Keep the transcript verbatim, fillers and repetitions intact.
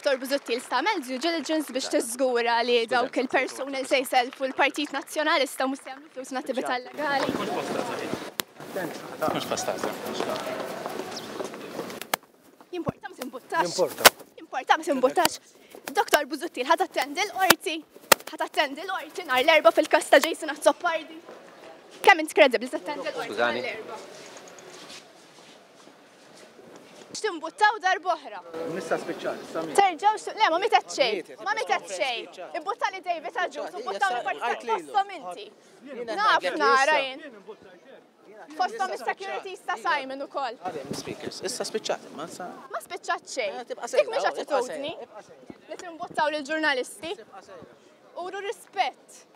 Doktor Busuttil, tagħmel due diligence biex tiżgura li dawk il-persuni li se jselfu l-Partit Nazzjonalista mhux se jagħmlu flus attività illegali? Mhux pastaza. Jimporta ma timbuttax. Jimporta. Jimporta ma timbuttax. Doktor Busuttil, ħa tattendi l-qorti. Ħa tattendi l-qorti nhar l-Erbgħa fil-każ ta' Jason Azzopardi. Kemm int kredibbli tattendi l-qorti nhar Skużani. l-Erbgħa? X'timbuttaw darb'oħra? Nista spiċċat, issa min. Terġaw xtu, le, ma mietet xejn, Mietet. ma mietet xejn. Imbuttali David Agius, u buttaw il-partit Għajt lilu. fosthom inti. Naf nara jien. Fosthom is-security ta' Simon ukoll. Għadem speakers, issa spiċċat, ma sa. Ma spiċċat xejn. Eh, tibqa' Dik sejra, mhix oh, tibqa' attitudni sejra, tibqa' sejra. li timbuttaw lill-ġurnalisti. Uru rispett.